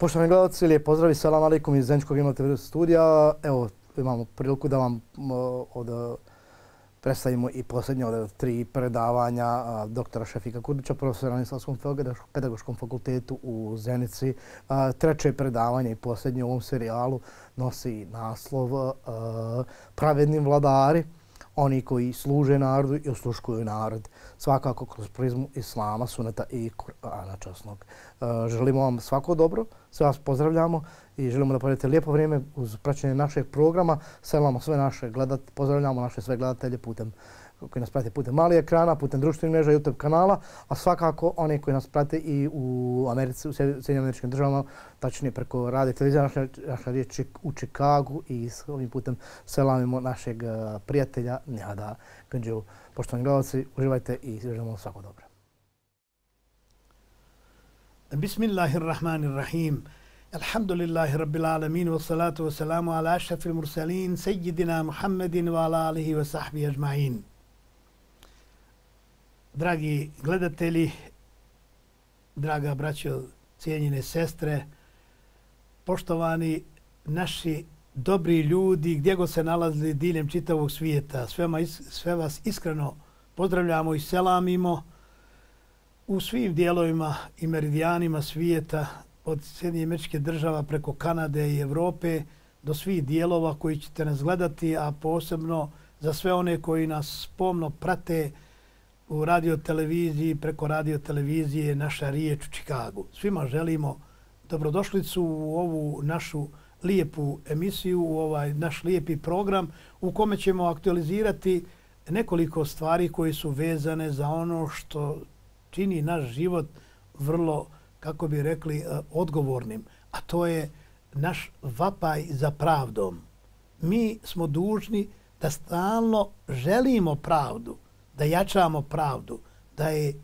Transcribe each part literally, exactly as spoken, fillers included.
Poštovani gledalci, lijep pozdrav i selam alejkum iz Zeničkog Imla te ve studija. Evo, imamo priliku da vam od, predstavimo i posljednje od tri predavanja a, doktora Šefika Kurdića, profesora na Islamskom pedagoškom fakultetu u Zenici. A, treće predavanje i posljednje u ovom serijalu nosi naslov a, Pravedni vladari, oni koji služe narodu i osluškuju narod. Svakako kroz prizmu Islama, Suneta i Kur'ana časnog. Želimo vam svako dobro, sve vas pozdravljamo i želimo da provedete lijepo vrijeme uz praćenje našeg programa. Selamo sve naše gledat, pozdravljamo naše sve gledatelje putem koji nas prate putem malih ekrana, putem društvenih mreža, YouTube kanala, a svakako oni koji nas prate i u Americi, u Sjedinjenim Američkim Državama, tačnije preko radio televizije, naša, naša riječ u Čikagu i s ovim putem selamimo našeg prijatelja Nihada Ganđevu. Poštovani gledalci, uživajte i želimo svako dobro. Bismillahirrahmanirrahim. Alhamdulillahi rabbil alamin wa salatu wa salamu ala ašrafil mursalin sejidina Muhammedin wa ala alihi wa sahbihi ajma'in. Dragi gledatelji, draga braćo, cijenjene sestre, poštovani naši dobri ljudi, gdje god se nalazili diljem čitavog svijeta, sve, sve vas iskreno pozdravljamo i selamimo u svim dijelovima i meridijanima svijeta, od Sjedinjenih Američkih Država preko Kanade i Evrope do svih dijelova koji ćete nas gledati, a posebno za sve one koji nas pomno prate u radioteleviziji, preko radiotelevizije Naša riječ u Čikagu. Svima želimo dobrodošlicu u ovu našu lijepu emisiju, u ovaj naš lijepi program u kome ćemo aktualizirati nekoliko stvari koje su vezane za ono što čini naš život vrlo, kako bi rekli, odgovornim, a to je naš vapaj za pravdom. Mi smo dužni da stalno želimo pravdu, da jačamo pravdu, da je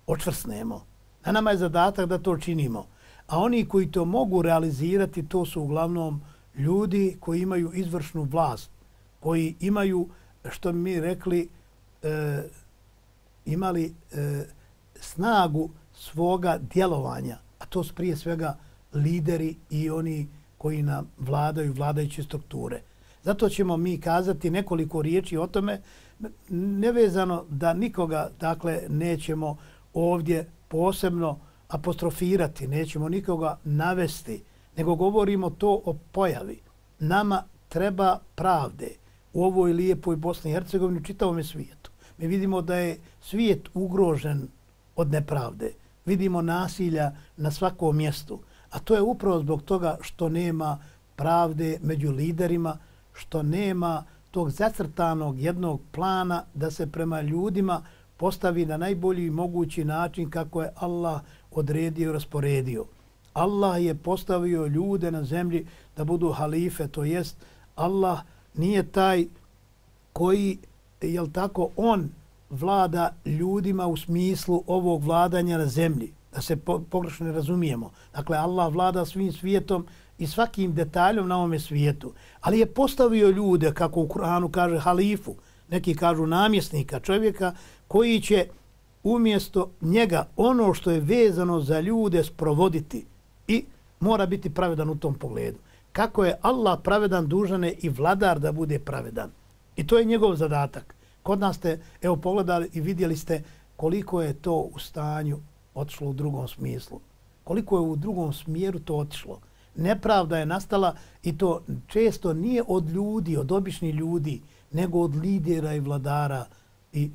očvrsnemo. Na nama je zadatak da to činimo. A oni koji to mogu realizirati, to su uglavnom ljudi koji imaju izvršnu vlast, koji imaju, što bi mi rekli, e, imali e, snagu svoga djelovanja, a to su prije svega lideri i oni koji nam vladaju, vladajuće strukture. Zato ćemo mi kazati nekoliko riječi o tome, nevezano da nikoga, dakle, nećemo ovdje posebno apostrofirati, nećemo nikoga navesti, nego govorimo to o pojavi. Nama treba pravde u ovoj lijepoj Bosni i Hercegovini, u čitavom svijetu. Mi vidimo da je svijet ugrožen od nepravde. Vidimo nasilja na svakom mjestu. A to je upravo zbog toga što nema pravde među liderima, što nema tog zacrtanog jednog plana da se prema ljudima postavi na najbolji mogući način kako je Allah odredio i rasporedio. Allah je postavio ljude na zemlji da budu halife, to jest Allah nije taj koji, jel tako, on vlada ljudima u smislu ovog vladanja na zemlji, da se po, pogrešno ne razumijemo. Dakle, Allah vlada svim svijetom i svakim detaljom na ovome svijetu. Ali je postavio ljude, kako u Kur'anu kaže, halifu, neki kažu namjesnika, čovjeka koji će umjesto njega ono što je vezano za ljude sprovoditi i mora biti pravedan u tom pogledu. Kako je Allah pravedan, dužan je i vladar da bude pravedan. I to je njegov zadatak. Kod nas ste, evo, pogledali i vidjeli ste koliko je to u stanju otišlo u drugom smislu. Koliko je u drugom smjeru to otišlo. Nepravda je nastala i to često nije od ljudi, od običnih ljudi, nego od lidera i vladara i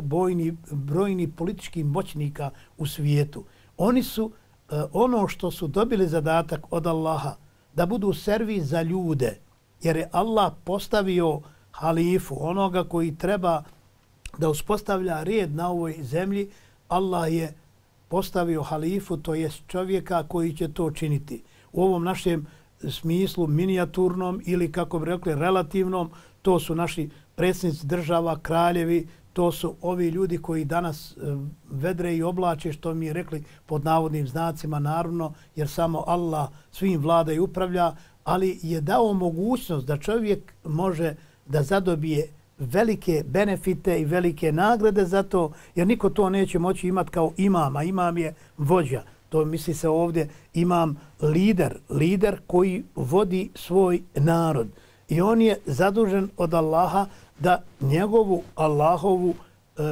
bojni, brojni političkih moćnika u svijetu. Oni su ono što su dobili zadatak od Allaha, da budu servis za ljude, jer je Allah postavio halifu, onoga koji treba da uspostavlja red na ovoj zemlji. Allah je postavio halifu, to je čovjeka koji će to činiti. U ovom našem smislu minijaturnom ili, kako bi rekli, relativnom, to su naši predsjednici država, kraljevi, to su ovi ljudi koji danas vedre i oblače, što mi je rekli pod navodnim znacima, naravno, jer samo Allah svim vlada i upravlja, ali je dao mogućnost da čovjek može da zadobije velike benefite i velike nagrade za to, jer niko to neće moći imati kao imam, a imam je vođa. to misli se ovdje, imam lider, lider koji vodi svoj narod. I on je zadužen od Allaha da njegovu Allahovu e,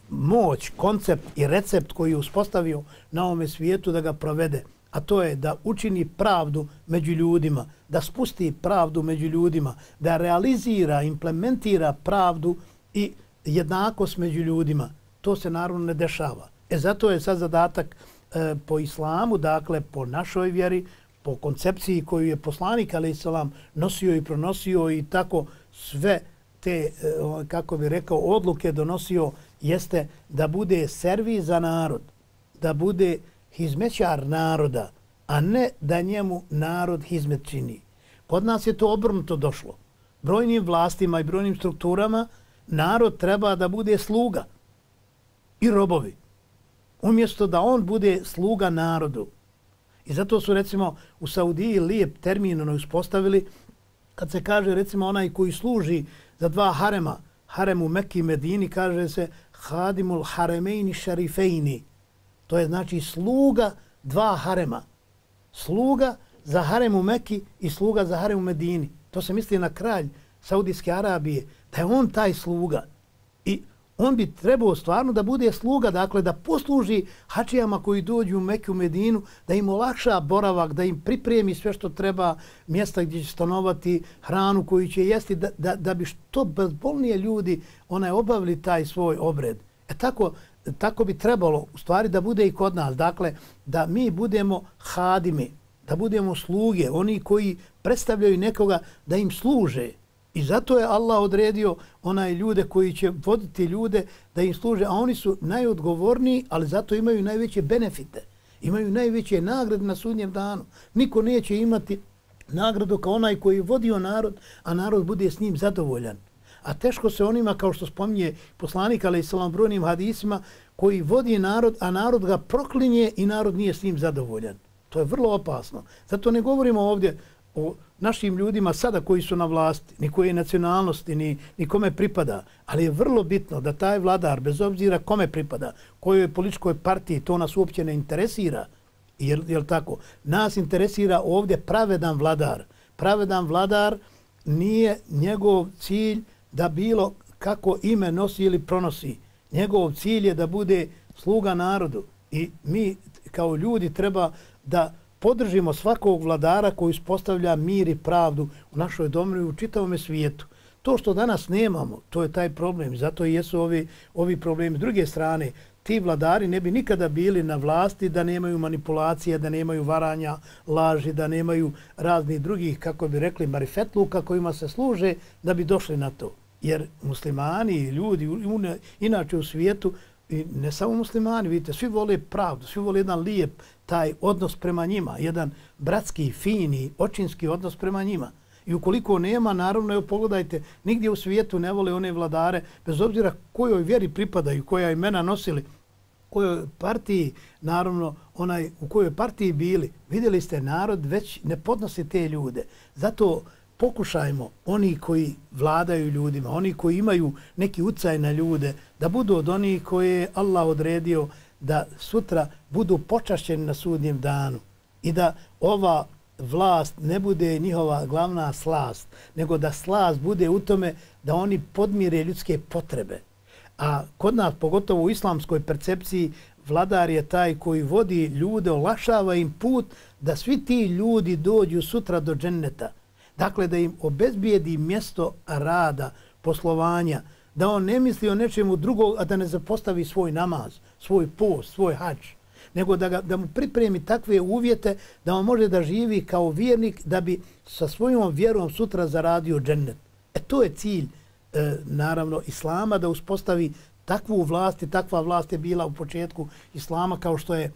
moć, koncept i recept koji je uspostavio na ovome svijetu da ga provede. A to je da učini pravdu među ljudima, da spusti pravdu među ljudima, da realizira, implementira pravdu i jednakost među ljudima. To se naravno ne dešava. E zato je sad zadatak e, po islamu, dakle po našoj vjeri, po koncepciji koju je poslanik alejhi selam nosio i pronosio i tako sve te, kako bi rekao, odluke donosio, jeste da bude servis za narod, da bude hizmećar naroda, a ne da njemu narod hizmet čini. Kod nas je to obrnuto došlo. Brojnim vlastima i brojnim strukturama narod treba da bude sluga i robovi, umjesto da on bude sluga narodu. I zato su recimo u Saudiji lijep termin ono uspostavili kad se kaže recimo onaj koji služi za dva harema, haremu Mekki i Medini, kaže se hadimul haremejni šarifejni. To je znači sluga dva harema. Sluga za haremu Mekki i sluga za haremu Medini. To se misli na kralj Saudijske Arabije, da je on taj sluga. I on bi trebao stvarno da bude sluga, dakle da posluži hačijama koji dođu u Meku, Medinu, da im olakša boravak, da im pripremi sve što treba, mjesta gdje će stanovati, hranu koju će jesti, da, da, da bi što bezbolnije ljudi onaj obavili taj svoj obred. E tako, tako bi trebalo u stvari da bude i kod nas. Dakle, da mi budemo hadimi, da budemo sluge, oni koji predstavljaju nekoga da im služe. I zato je Allah odredio onaj ljude koji će voditi ljude da im služe, a oni su najodgovorniji, ali zato imaju najveće benefite. Imaju najveće nagrade na sudnjem danu. Niko neće imati nagradu kao onaj koji je vodio narod, a narod bude s njim zadovoljan. A teško se onima, kao što spominje poslanik alejhi selam brojnim hadisima, koji vodi narod, a narod ga proklinje i narod nije s njim zadovoljan. To je vrlo opasno. Zato ne govorimo ovdje o našim ljudima sada koji su na vlasti, ni koje nacionalnosti, ni, ni kome pripada. Ali je vrlo bitno da taj vladar, bez obzira kome pripada, kojoj političkoj partiji, to nas uopće ne interesira. Jel, jel tako? Nas interesira ovdje pravedan vladar. Pravedan vladar nije njegov cilj da bilo kako ime nosi ili pronosi. Njegov cilj je da bude sluga narodu. I mi kao ljudi treba da podržimo svakog vladara koji uspostavlja mir i pravdu u našoj domovini i u čitavom svijetu. To što danas nemamo, to je taj problem. Zato i jesu ovi, ovi problemi. S druge strane, ti vladari ne bi nikada bili na vlasti da nemaju manipulacije, da nemaju varanja, laži, da nemaju raznih drugih, kako bi rekli, marifetluka kojima se služe da bi došli na to. Jer muslimani i ljudi inače u svijetu, i ne samo muslimani, vidite, svi vole pravdu, svi vole jedan lijep taj odnos prema njima, jedan bratski, fini, očinski odnos prema njima. I ukoliko nema, naravno, evo pogledajte, nigdje u svijetu ne vole one vladare, bez obzira kojoj vjeri pripadaju, koja imena nosili, kojoj partiji, naravno, onaj u kojoj partiji bili. Vidjeli ste, narod već ne podnosi te ljude. Zato pokušajmo, oni koji vladaju ljudima, oni koji imaju neki ucaj na ljude, da budu od onih koje je Allah odredio da sutra budu počašćeni na sudnjem danu i da ova vlast ne bude njihova glavna slast, nego da slast bude u tome da oni podmire ljudske potrebe. A kod nas, pogotovo u islamskoj percepciji, vladar je taj koji vodi ljude, olakšava im put da svi ti ljudi dođu sutra do dženneta. Dakle, da im obezbijedi mjesto rada, poslovanja, da on ne misli o nečemu drugog, a da ne zapostavi svoj namaz, svoj post, svoj hadž, nego da, ga, da mu pripremi takve uvjete da on može da živi kao vjernik, da bi sa svojom vjerom sutra zaradio džennet. E to je cilj, e, naravno, Islama, da uspostavi takvu vlast i takva vlast je bila u početku Islama, kao što je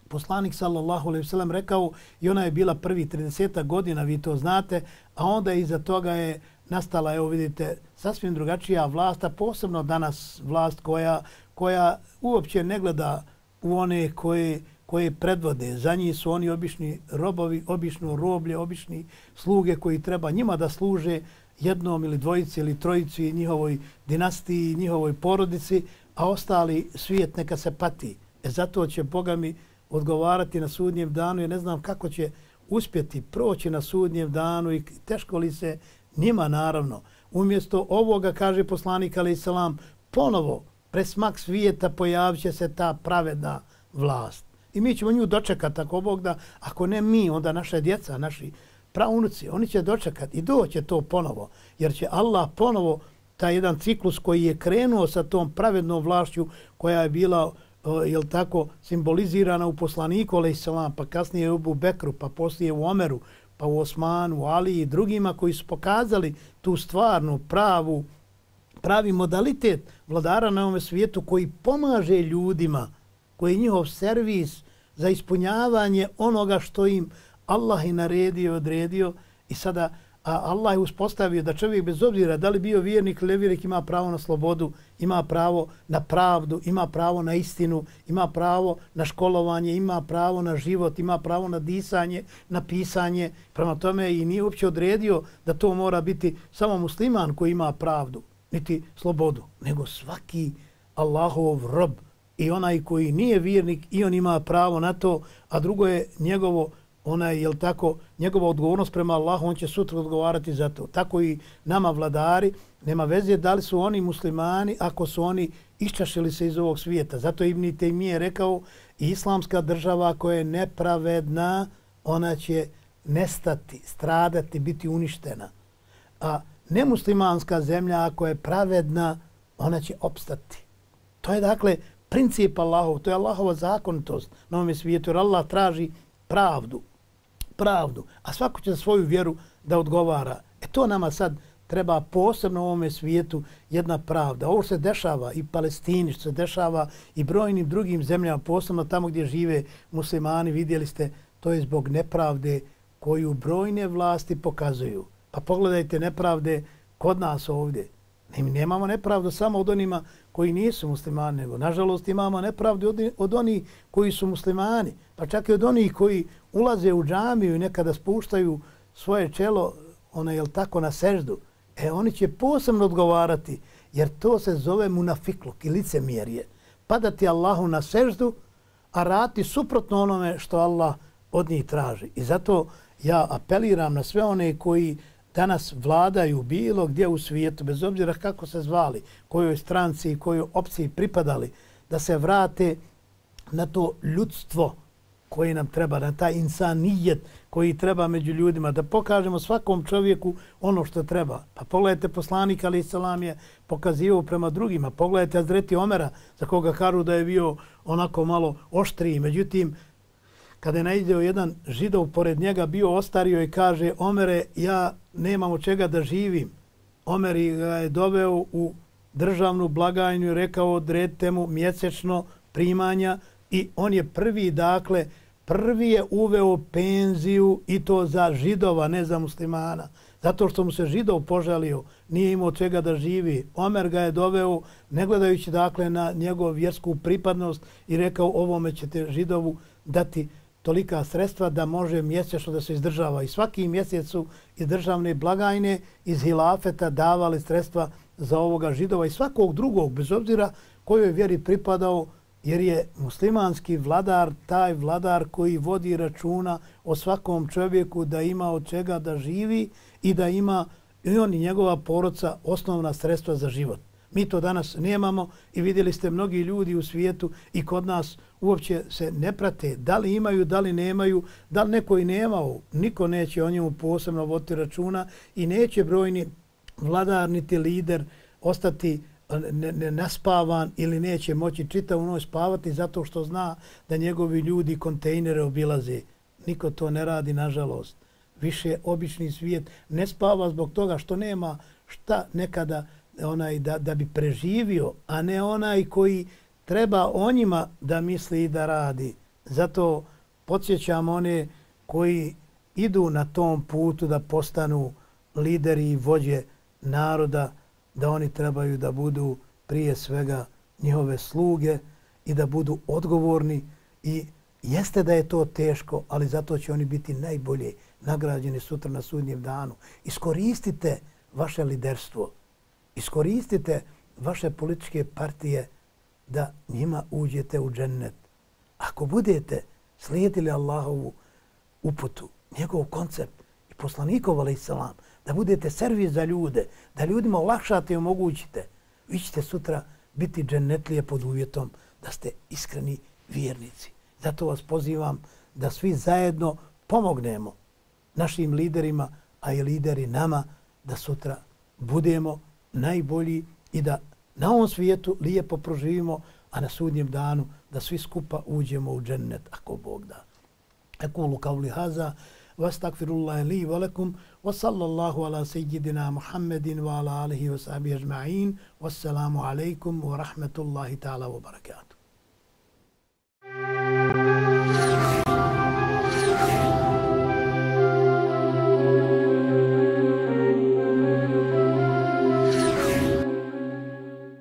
poslanik sallallahu alejhi ve sellem rekao, i ona je bila prvi trideset godina, vi to znate, a onda iza toga je nastala, evo vidite, sasvim drugačija vlast, a posebno danas vlast koja, koja uopće ne gleda u one koje, koje predvode. Za njih su oni obični robovi, obično roblje, obični sluge koji treba njima da služe jednom ili dvojici ili trojici njihovoj dinastiji, njihovoj porodici, a ostali svijet neka se pati. E zato će, Boga mi, odgovarati na sudnjem danu, jer ne znam kako će uspjeti proći na sudnjem danu i teško li se njima naravno. Umjesto ovoga, kaže poslanik alejhi selam, ponovo presmak svijeta pojavit će se ta pravedna vlast. I mi ćemo nju dočekati ako Bog da, ako ne mi, onda naša djeca, naši praunuci, oni će dočekati i doće to ponovo, jer će Allah ponovo taj jedan ciklus koji je krenuo sa tom pravednom vlašću koja je bila, jel tako, simbolizirana u poslaniku alejhi selam, pa kasnije u Ebu Bekru, pa poslije u Omeru, pa u Osmanu, u Ali i drugima koji su pokazali tu stvarnu, pravu, pravi modalitet vladara na ovom svijetu koji pomaže ljudima, koji je njihov servis za ispunjavanje onoga što im Allah je naredio, odredio i sada a Allah je uspostavio da čovjek bez obzira da li bio vjernik ili nevjernik ima pravo na slobodu, ima pravo na pravdu, ima pravo na istinu, ima pravo na školovanje, ima pravo na život, ima pravo na disanje, na pisanje. Prema tome i nije uopće odredio da to mora biti samo musliman koji ima pravdu, niti slobodu, nego svaki Allahov rob i onaj koji nije vjernik i on ima pravo na to, a drugo je njegovo onaj, jel tako, njegova odgovornost prema Allahu, on će sutra odgovarati za to. Tako i nama vladari, nema veze da li su oni muslimani ako su oni iščašili se iz ovog svijeta. Zato Ibn Taymije je rekao, islamska država koja je nepravedna, ona će nestati, stradati, biti uništena. A nemuslimanska zemlja ako je pravedna, ona će opstati. To je dakle princip Allahov, to je Allahova zakonitost na ovom svijetu, jer Allah traži pravdu. pravdu, a svako će za svoju vjeru da odgovara. E to nama sad treba posebno u ovome svijetu jedna pravda. Ovo se dešava i Palestini, što se dešava i brojnim drugim zemljama, posebno tamo gdje žive muslimani, vidjeli ste, to je zbog nepravde koju brojne vlasti pokazuju. Pa pogledajte nepravde kod nas ovdje. Mi nemamo nepravdu samo od onima koji nisu muslimani, nego nažalost imamo nepravdu od, od onih koji su muslimani, pa čak i od onih koji ulaze u džamiju i nekada spuštaju svoje čelo, ono je tako, na seždu. E, oni će posebno odgovarati, jer to se zove munafikluk i licemjerje. Padati Allahu na seždu, a raditi suprotno onome što Allah od njih traži. I zato ja apeliram na sve one koji danas vladaju bilo gdje u svijetu, bez obzira kako se zvali, kojoj stranci i kojoj opciji pripadali, da se vrate na to ljudstvo koje nam treba, na taj insanijet koji treba među ljudima, da pokažemo svakom čovjeku ono što treba. Pa pogledajte, poslanik alejhi selam je pokazivao prema drugima. Pogledajte Hazreti Omera, za koga kažu da je bio onako malo oštriji. Međutim, kada je naiđeo jedan židov pored njega, bio ostario i kaže, Omere, ja nemam od čega da živim. Omer ga je doveo u državnu blagajnu i rekao, odredite mu mjesečno primanja i on je prvi, dakle, prvi je uveo penziju i to za židova, ne za muslimana. Zato što mu se židov požalio, nije imao od čega da živi. Omer ga je doveo, ne gledajući dakle na njegovu vjersku pripadnost i rekao, ovome ćete židovu dati tolika sredstva da može mjesečno da se izdržava. I svaki mjesec su iz državne blagajne, iz hilafeta davali sredstva za ovoga židova i svakog drugog, bez obzira kojoj vjeri pripadao, jer je muslimanski vladar taj vladar koji vodi računa o svakom čovjeku da ima od čega da živi i da ima i on i njegova porodica osnovna sredstva za život. Mi to danas nemamo i vidjeli ste mnogi ljudi u svijetu i kod nas uopće se ne prate da li imaju, da li nemaju, da li neko i nemao. Niko neće o njemu posebno voditi računa i neće brojni vladar niti lider ostati naspavan ili neće moći čitavu noć spavati zato što zna da njegovi ljudi kontejnere obilaze. Niko to ne radi, nažalost. Više obični svijet ne spava zbog toga što nema šta nekada onaj da, da bi preživio, a ne onaj koji treba o njima da misli i da radi. Zato podsjećam one koji idu na tom putu da postanu lideri i vođe naroda, da oni trebaju da budu prije svega njihove sluge i da budu odgovorni. I jeste da je to teško, ali zato će oni biti najbolje nagrađeni sutra na sudnjem danu. Iskoristite vaše liderstvo. Iskoristite vaše političke partije da njima uđete u džennet. Ako budete slijedili Allahovu uputu, njegov koncept i poslanikov alejselam, da budete servis za ljude, da ljudima olakšate i omogućite, vi ćete sutra biti džennetlije pod uvjetom da ste iskreni vjernici. Zato vas pozivam da svi zajedno pomognemo našim liderima, a i lideri nama, da sutra budemo najbolji i da na ovom svijetu lijepo proživimo, a na sudnjem danu da svi skupa uđemo u džennet, ako Bog da. Aqulu qawli haza, واستغفرullah li wa lakum wa sallallahu ala sayyidina Muhammedin wa ala alihi wa sahbihi ajma'in. Wassalamu alaikum wa rahmatullahi ta'ala wa barakatuh.